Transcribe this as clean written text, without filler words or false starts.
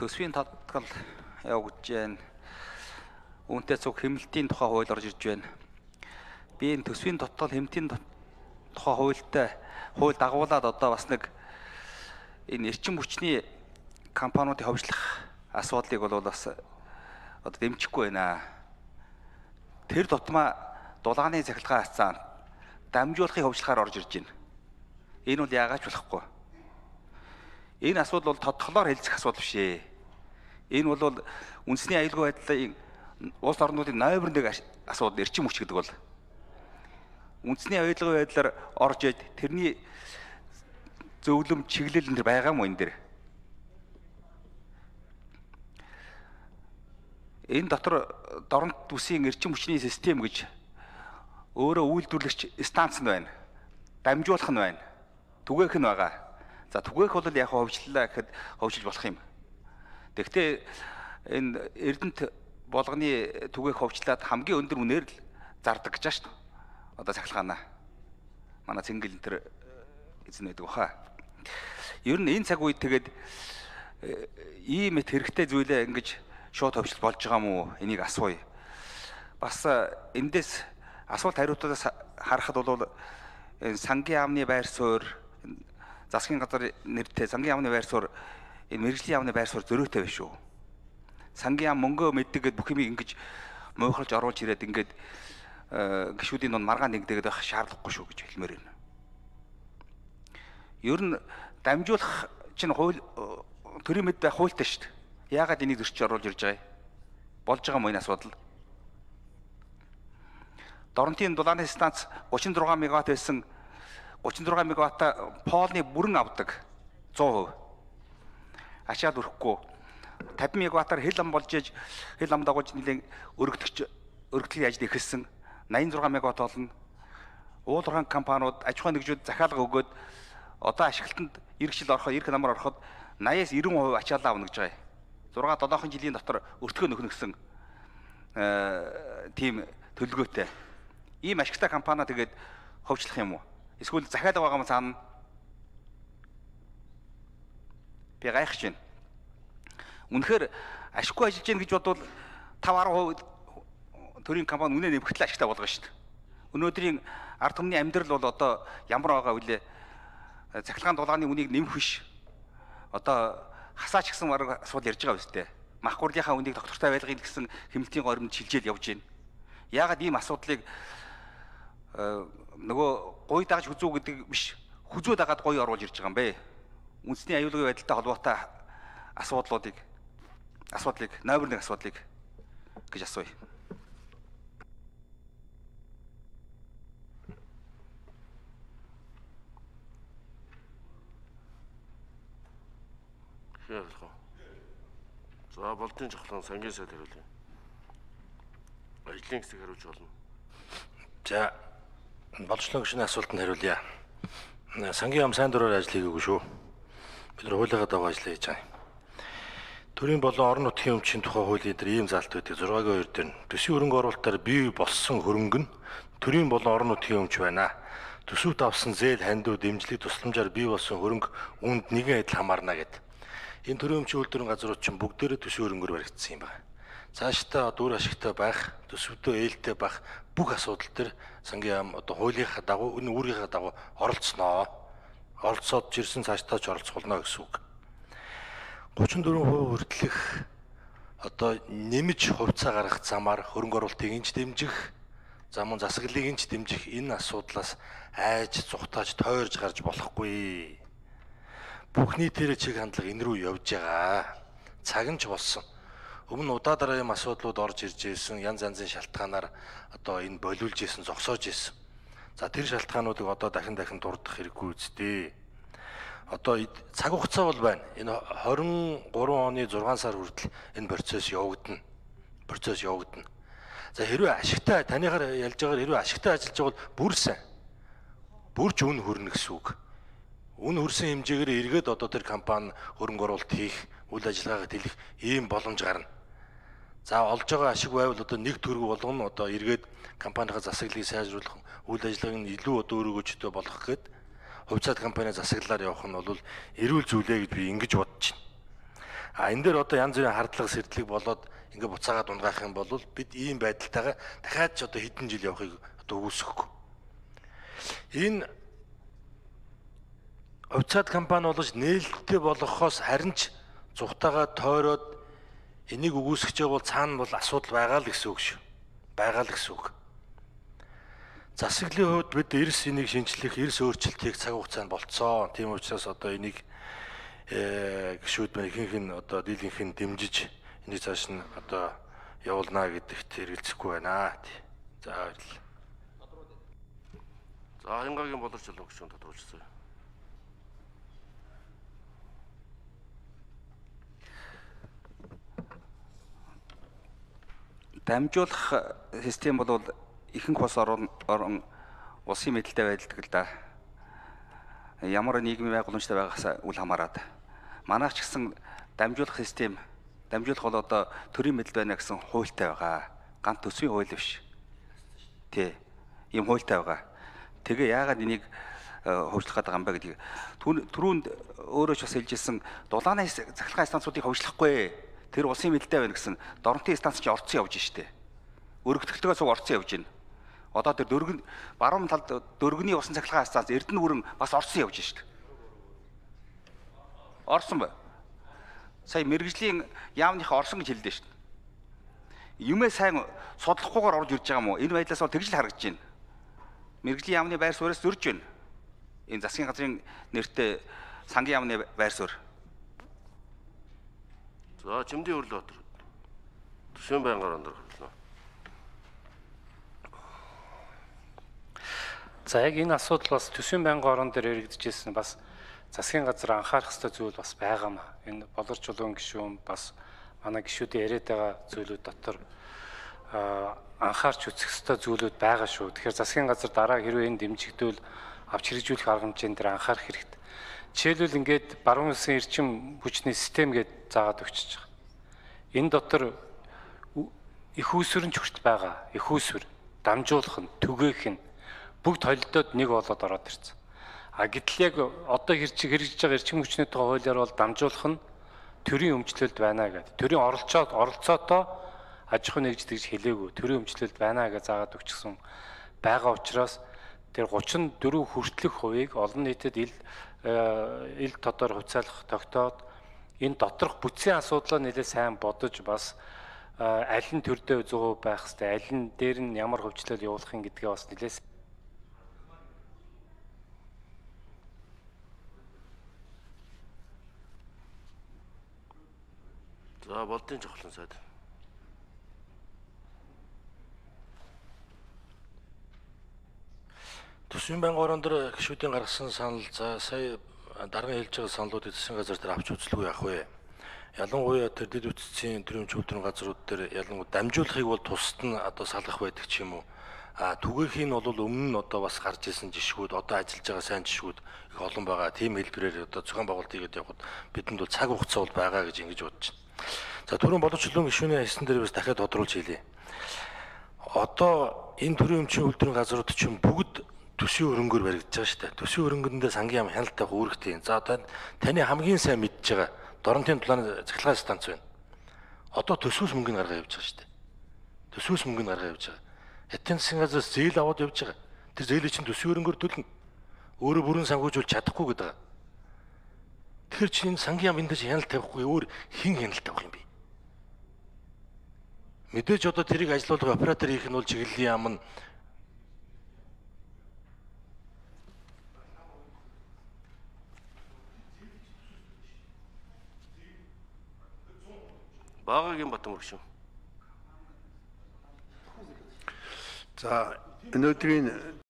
төсвийн тодтгол явагдаж байна. Үүнтэй цуг хэмнэлтийн тухай хууль орж ирж байна. Би энэ төсвийн тодтгол хэмнэлтийн тухай хууль дагуулад одоо бас нэг энэ эрчим хүчний компаниудыг ховжлох асуудлыг бол бас одоо дэмжихгүй байна. Тэр тутмаа дулааны цахилгаан хацаанд дамжуулахыг ховжлохоор орж ирж байна. Энэ бол яагаад ч болохгүй. Энэ асуудал бол тодтголоор хэлцэх асуудал биш ээ. Энэ бол үндэсний аюулгүй байдлын улс орнуудын номер 1 асуудал эрчим хүч гэдэг бол үндэсний аюулгүй байдлаар орж иж тэрний зөвлөм чиглэл энэ байгаа мó энэ дэр. Энэ дотор дорнод бүсийн эрчим хүчний систем гэж өөрөө үйлдвэрлэгч станц нь байна. Дамжуулах нь байна. Түгээх нь байгаа. За түгээх бол яг ховжллаа гэхэд ховжилж болох юм. Тэгэхдээ энэ Эрдэнэт болгоны түгээх ховжлаад хамгийн өндөр үнээр л зардаг гэж байна шүү дээ. Одоо цахилгаанаа. Манай цэнгэл энэ төр эзэн байдаг баха. Ер нь энэ цаг үед тэгээд ийм их хэрэгтэй зүйлээ ингэж шууд ховжил болж байгаа мó энийг асууя. Бас эндээс асуулт хариултаас харахад бол энэ сангийн яамны байр суурь засгийн газар нэртэй сангийн яамны байр суурь энэ мэрэгжлийн яамны байр суурь зөрөөтэй биш үү? Сангийн яам мөнгөө мэддэг гэд бүх юмыг ингэж муухалж оруулж ирээд ингээд гişүүдийн дунд маргаан нэгдэгээд байх шаардлагагүй шүү гэж хэлмээр байна. Ер нь дамжуулах чинь хууль төрийн мэд байх хуультай шүү дээ. Яагаад энийг зөрчиж оруулж ирж байгаа юм? Болж байгаа мөн асуудал. Дорнотын дулааны станц 36 мегаватт байсан 36 мегаватта поолны бүрэн авдаг 100%. Ачаад өрөхгүй 50 мегаваттаар хэл ам болж иж хэл ам дагуулж нэлийн өргөдлийн ажил ихэлсэн 86 мегаватт болно. Уулуурхан компаниуд аж ахуйн нэгжүүд захиалга өгөөд одоо ашиглалтанд эх жил ороход эх намар ороход 80-аас 90% ачаалал авна гэж байгаа юм. 6-7 жилийн дотор өртгөө нөхнө гэсэн тийм төлөвлөгөөтэй. Ийм ашигтай компани тэгээд ховчлох юм уу? Эсвэл захиалга байгаа юм цаана би гайхаж байна. Үнэхээр ашиггүй ажиллаж гин гэж бодвол 5-10% төрийн компани үнэ нэмэгдэл ашигтай болгоно шүү дээ. Өнөөдрийн ард түмний амьдрал бол одоо ямар байгаа вүлээ? Цахилгаан дулааны үнийг нэмэх биш. Одоо хасаач гэсэн асуудал ярьж байгаа үстэй. Мах хурлынхаа үнийг доктортой байлгахын гэсэн хэмнэлтийн горимд шилжээл явж байна. Яагаад ийм асуудлыг нөгөө гуй дагаж хүзүү гэдэг биш хүзүү дагаад гуй оруулж ирж байгаа юм бэ? Үндэсний аюулгүй байдалтай холбоотой асуудлыг номер 1 асуудлыг гэж асууя. За болдын жахлан сангийн сайд хариулъя. Ажлын хэсэг хариулж болно. За болжлоо гişний асуултанд хариулъя. Сангийн яам сайн дураар ажил хийгээгүй шүү. Бид нар хуулигаа дагуу ажиллаа хийж байгаа. Төрийн болон орон нутгийн өмчийн тухай хуулийн дээр ийм заалт байдаг 6-2 дээр төсвийн хөрөнгө оруулалтаар бий болсон хөрөнгө нь төрийн болон орон нутгийн өмч байна. Төсөвт авсан зээл хандив дэмжлэг тусламжаар бий болсон хөрөнгө үүнд нэгэн адил хамаарна гэдэг. Энэ төрийн өмчийн үйлдвэрийн газрууд чинь бүгдээрээ төсвийн хөрөнгөөр баригдсан юм байна. Цаашдаа дүр ашигтай байх, төсөвдөө ээлтэй байх бүх асуудал төр сангийн яам одоо хуулийнхаа дагуу энэ үүргийнхаа дагуу оролцсноо. Оролцоод жирсэн цаашдаа ч оролцох болно гэсэн үг. 34% хүртэлх одоо нэмж хувьцаа гаргах замаар хөрөнгө оруулалтыг инж дэмжих, зам засаглалыг инж дэмжих энэ асуудлаас айж зүхтааж тойрж гарч болохгүй. Бүх нийтээр чиг хандлага энэ рүү явж байгаа. Цаг нь ч болсон. Өмнө удаа дараа юм асуудлууд орж ирж ирсэн, янз янзын шалтгаанаар одоо энэ болиулж ирсэн, зогсоож ирсэн. За тэр шалтгаануудыг одоо дахин дурдах хэрэггүй үстэй. Одоо цаг хугацаа бол байна. Энэ 23 оны 6 сар хүртэл энэ процесс явагдана. За хэрвээ ашигтай танихаар ялж байгаагаар хэрвээ ашигтай ажиллаж байгаа бол бүр сайн. Бүрч үн хөрнө гэсэн үг. Үн хөрсөн хэмжээгээр эргээд одоо тэр компани хөрөнгө оруулалт хийх, үйл ажиллагаагаа тэлэх ийм боломж гарна. За олж байгаа ашиг байвал одоо нэг төгрөг болгоно одоо эргээд компанийнхаа засаглалыг сайжруулах, үйл ажиллагааг нь илүү одоо өргөжтэй болгох гээд хувьцаат компани засаглалаар явах нь бол эрүүл зүйлээ гэж би ингэж бодож байна. Энэ дээр одоо янз бүрийн хардлага сэрдлэг болоод ингээ буцаагаад унгаах юм бол бид ийм байдалтайгаа дахиад ч одоо хэдэн жил явахыг одоо үгүйсэхгүй. Энэ хувьцаат компани болж нээлттэй болгохоос харин ч зүгтаага тойроод энийг үгүйсгэж байгаа бол цаана бол асуудал байгаа л гэсэн үг шүү. Байгаа л гэсэн үг. Засаглалын хувьд бид эрс энийг шинжлэх, эрс өөрчлөлтийг цаг хугацаанд болцсон. Тийм учраас одоо энийг гишүүд маань ихэнх нь одоо дийлэнх нь дэмжиж энийг цааш нь одоо явуулнаа гэдэгт хэрэгэлцэхгүй байна. За баярлалаа. За Хянгагийн боловч чулуун гишүүн тодорхойлцсон. Дамжуулах систем бол ихэнх улс орон улсын мэдэлтэй байдалдаг л да. Ямар нийгмийн байгууламжтай байгаас үл хамааран. Манайх ч гэсэн дамжуулах систем, дамжуулах бол одоо төрийн мэдэл байна гэсэн хуультай байгаа. Ганц төсвийн хууль биш. Тий. Ийм хуультай байгаа. Тэгээ яагаад энийг хөгжлөх гэдэг юм бэ гэдгийг түрүүнд өөрөө ч бас хэлжсэн дулааны захиргааны станцуудыг хөгжлөхгүй. Тэр улсын мэдэлтэй байна гэсэн дорнотын станц чинь орцсон явж штэ. Өргөдөлтөөс орцсон явж байна. Одоо тэр баруун талд дөргөний усан цахилгаан станц Эрдэнэ хүрэн бас орцсон явж штэ. Орсон бай. Сая мэрэгжлийн яамныхаа орсон гэж хэлдэ штэ. Юмээ сайн судлахгүйгээр орж ирж байгаа юм уу? Энэ байдлаас бол тэгж л харагдаж байна. Мэргэжлийн яамны байр сууриас зөрж байна. Энэ засгийн газрын нэртэй сангийн яамны байр суурь. За Чимдийн Өрлөбатар. Төсвийн байнгын орон дөрвөлнө. За яг энэ асуудал бас төсвийн байнгын орон дээр яригдчихсэн бас засгийн газар анхаарах ёстой зүйл бас байгаа маа. Энэ боловч чулуун гишүүн бас манай гишүүдийн яриад байгаа зүйлүүд дотор анхаарч үзэх ёстой зүйлүүд байгаа шүү. Тэгэхээр засгийн газар дараа хэрвээ энэ дэмжигдвэл авч хэрэгжүүлэх арга хэмжээнд дээр анхаарах хэрэгтэй. Жишээлбэл ингээд баруун улсын эрчим хүчний систем гэдээ заагаад өгчөж байгаа. Энэ дотор их үүсвэрч хүртэл байгаа. Их үүсвэр, дамжуулах нь, түгээх нь бүгд холилдоод нэг болоод ороод ирсэн. Гэтэл яг одоо хэрэгжиж байгаа эрчим хүчний тухай хуулиар бол дамжуулах нь төрийн өмчлөлд байна гэдэг. Төрийн оролцоотоо аж ахуй нэгжид гэж хэлээгүй. Төрийн өмчлөлд байна гэж заагаад өгчихсөн байгаа учраас тэр 34% хүртэлх хувийг олон нийтэд ил тодор хувьцаалах тогтоод энэ доторх бүтцийн асуудлаа нэлээд сайн бодож бас аль нь төрдөө 100% байх хэвээр, аль нь дээр нь ямар хөгжлөл явуулахын гэдгээ бас нэлээд За болдын жавхлан сайд. Төсвийн байнгын орон дээр гишүүдийн гаргасан санал за сая дарга хэлж байгаа саналуудыг засгийн газар дээр авч үзлгүй яах вэ? Ялангуяа тэр дэд үтцийн төрийн чөлөөтрийн газрууд дээр ялангуяа дамжуулахыг бол тусад нь одоо салгах байдаг ч юм уу. Түгээх нь бол өмнө нь одоо бас гарч ирсэн жишгүүд одоо ажиллаж байгаа сайн жишгүүд их олон байгаа. Тийм хэлбэрээр одоо зохион байгуулалт хийгээд явхад бидэнд бол цаг хугацаа бол байгаа гэж ингэж бодож байна. За түрүүн боловч чулуун гишүүний хэлсэн дээр бас дахиад тодруулж хэлье. Одоо энэ төрийн өмчийн үйлдвэрийн газрууд чинь бүгд төсвийн хөрөнгөөр баригдаж байгаа шүү дээ. Төсвийн хөрөнгөндөө сангийн яам хяналттай үүрэгтэй. За таны хамгийн сайн мэдж байгаа Доронтын дулааны цахилгаан станц байна. Одоо төсвөөс мөнгө гаргаа явж байгаа шүү дээ. Төсвөөс мөнгө гаргаа явж байгаа. Хятадын засгийн газраас зээл аваад явж байгаа. Тэр зээлийг чинь төсвийн хөрөнгөөр төлнө. Өөрөө бүрэн санхүүжүүл чадахгүй гэдэг байгаа. Тэгэхээр чи энэ сангийн яам энд чинь хяналт тавихгүй өөр хэн хяналт тавих юм бэ? Мэдээж одоо тэрийг ажилуулах оператор хийх нь бол чиглэлийн яам нь Багагийн Батмөр гишүүн. За өнөөдрийн